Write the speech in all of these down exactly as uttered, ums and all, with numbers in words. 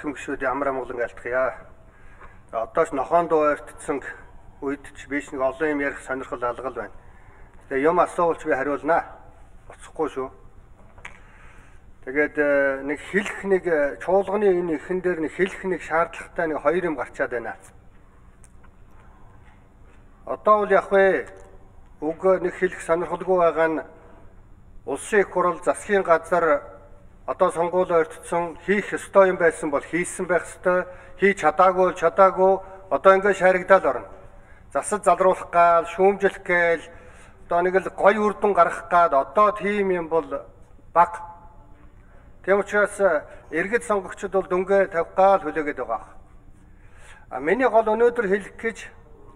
Гүшүүд ямар амгалан алтхъя. Одоо ч нохоонд ойртсон үед ч биш нэг олон юм ярих сонирхол алгал байна. Тэгээ юм асуулж би хариулнаа. Оцохгүй шүү. Тэгээд нэг хэлэх нэг чуулганы энэ ихэн дээр нэг хэлэх нэг шаардлагатай нэг хоёр юм гарчаад байна. Одоо бол яг вэ үг нэг хэлэх сонирхолгүй байгаа нь улсын их хурал засгийн газар одоо сонгуул ойртсон хийх ёстой юм байсан бол хийсэн байх ёстой, хийж чадаагүй чадаагүй одоо ингээд шаригдаад орно. Засаж залруулах гал, шүүмжлэх гээл одоо нэг л гой үрдэн гаргах гад одоо тийм юм бол баг. Тэм учраас иргэд сонгогчдод бол дөнгөө тавих гал хүлээгээд байгаа. А миний гол өнөөдөр хэлэх гэж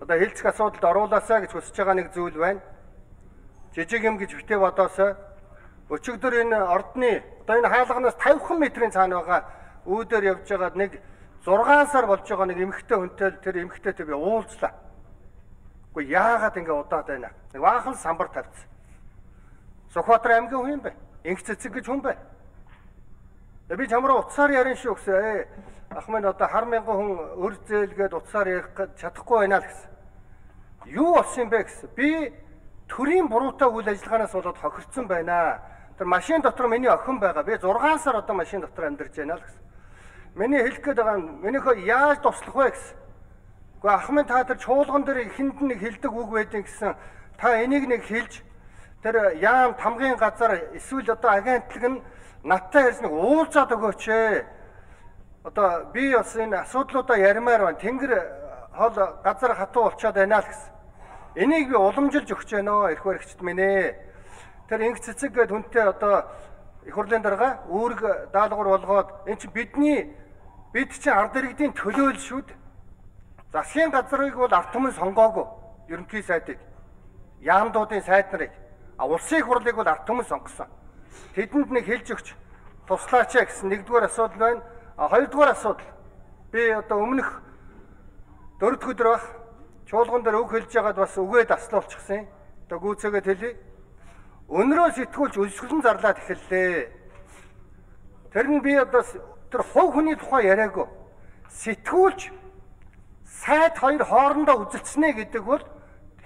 одоо хэлцэх асуудалд оруулаасаа гэж хүсэж байгаа нэг зүйл байна. Жижиг юм гэж битээ бодоосоо өчигдөр энэ ордны одоо энэ хаалганаас тавьхан метрийн цаана байгаа үүдээр явж байгаа нэг зургаан сар болж байгаа нэг эмэгтэй хүнтэй тэр эмэгтэйтэй би уулзлаа. Гэхдээ яагаад ингэ удаад байна? Нэг баахан самбар тавьсан. Сүхбаатар аймгийн хүн юм бэ? Инх цэцэг гэж хүн бэ? Би чамраа утсаар ярина шүү гэсэн. Ах минь одоо хар мянган хүн өр зээлгээд утсаар ярих гэж чадахгүй байна л гэсэн. Юу болсон юм бэ гэсэн. Би төрийн буруутай үйл ажиллагаанаас болоод хохирцсон байна. Тэр машин дотор миний охин байгаа. Би зургаан сар одоо машин дотор амьдарч байна л гэсэн. Миний хэлэх гээд байгаа нь минийхөө яаж туслах вэ гэсэн. Гэхдээ ах минь та тэр чуулган дээр ихэнд нэг хэлдэг үг байдэн гэсэн. Та энийг нэг хэлж тэр яам тамгын газар эсвэл одоо агентлаг нь надтай ярьж нэг уулзаад өгөөч ээ. Одоо би бас энэ асуудлуудаа ярмаар байна. Тэнгэр хол газар хатуу болчиход байна л гэсэн. Энийг би уламжилж өгч байна эрх баригчд минь ээ. Тэр инх цэцэг гээд хүнтэй одоо их хурлын дарга үүрэг даалгавар болгоод эн чинь бидний бид чинь ард иргэдийн төлөөлөл шүү дээ. Засгийн газрыг бол ард түмэн сонгоогүй. Ерөнхий сайдыг, яамдуудын сайд нарыг, а улсын их хурлыг бол ард түмэн сонгосон. Тэдэнд нэг хэлж өгч туслаач гэсэн нэгдүгээр асуудал байна. А хоёрдугаар асуудал би одоо өмнөх дөрөвдүгээр өдөр баг чуулган дээр үг хэлж байгаад бас үгээ таслуулчихсан. Одоо гүйцээгээд хэлье. Өнрөө сэтгүүлч өсгөлн зарлаад эхэллээ. Тэр нь би одоо тэр хувь хүний тухай яриаггүй. Сэтгүүлч сайд хоёр хоорондоо үзэлцснэ гэдэг бол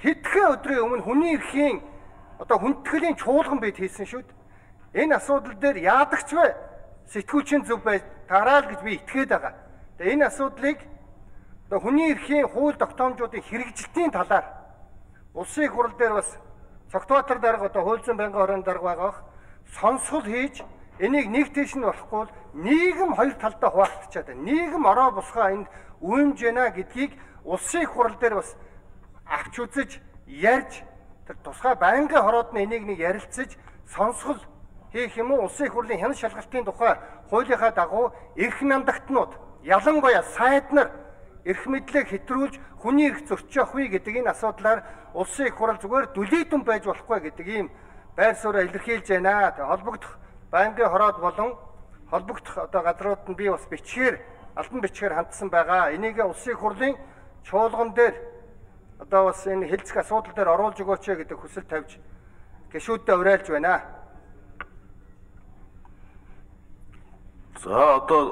хэдхэн өдрийн өмнө хүний эрхийн одоо хүндэтгэлийн чуулган бид хийсэн шүү дээ. Энэ асуудал дээр яадагч вэ? Сэтгүүлчийн зөв бай тараал гэж би итгээд байгаа. Тэгээ энэ асуудлыг одоо хүний эрхийн хууль тогтоомжуудын хэрэгжилтийн талаар улсын их хурал дээр бас Цогтбаатар дарга одоо Хуульзан байнгын хорон дарга байгаа. Сонсгол хийж энийг нэг тийш нь болохгүй бол нийгэм хоёр талдаа хуваагдчихад байна. Нийгэм ороо босгоо энд үүмж байна гэдгийг улсын их хурал дээр бас авч үзэж ярьж тэр тусгай байнгын хороод нь энийг нэг ярилцаж сонсгол хийх юм уу? Улсын их хурлын хяналт шалгалтын тухай хуулийнхаа дагуу эрх намдагтнууд ялангуяа сайд нар эрх мэдлэг хэтрүүлж хүний эрх зөрчих вэ гэдэг энэ асуудлаар улсын их хурал зүгээр дүлийдэн байж болохгүй гэдэг ийм байр сууриа илэрхийлж байна. Тэгээ холбогдох байнгын хороод болон холбогдох одоо газрууд нь би бас бичгээр албан бичгээр хандсан байгаа. Энийг улсын их хурлын чуулган дээр одоо бас энэ хэлцэх асуудал дээр оруулж өгөөч гэдэг хүсэл тавьж гишүүддээ уриалж байна. За одоо